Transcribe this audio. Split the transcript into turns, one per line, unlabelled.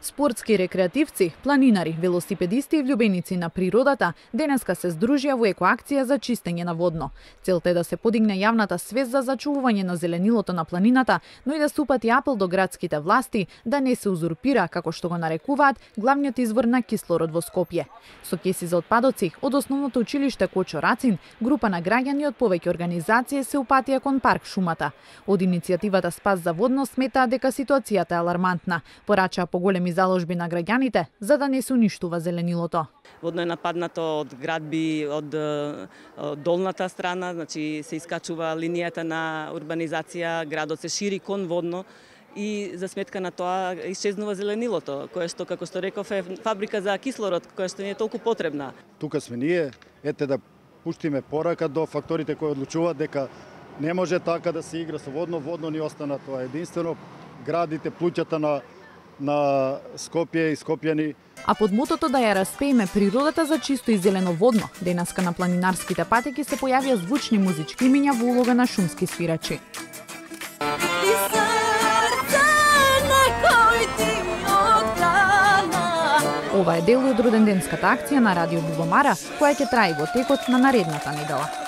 Спортски рекреативци, планинари, велосипедисти и влюбеници на природата денеска се здружија во екоакција за чистење на водно. Целта е да се подигне јавната свест за зачувување на зеленилото на планината, но и да се упати апел до градските власти да не се узурпира, како што го нарекуваат, главниот извор на кислород во Скопје. Со кеси за отпадоци од основното училиште Кочо Рацин, група на граѓани од повеќе организации се упатија кон парк Шумата. Од иницијативата Спас за водно сметаа дека ситуацијата е алармантна, порачаа поголеми заложби на граѓаните за да не се уништува зеленилото.
Водно е нападнато од градби, од долната страна, значи се искачува линијата на урбанизација, градот се шири кон водно и за сметка на тоа исчезнува зеленилото, кое што, како што реков, е фабрика за кислород, која што ни е толку потребна.
Тука сме ние, ете да пуштиме порака до факторите кои одлучуваат дека не може така да се игра со водно, водно ни остана тоа единствено, градите, плуќата на Скопје и скопјани.
А под мотото да ја распееме природата за чисто и зелено водно, денеска на планинарските патеки се појавија звучни музички имиња во улога на шумски свирачи. Ова е дел од роденденската акција на Радио Љубомара, која ќе трае во текот на наредната недела.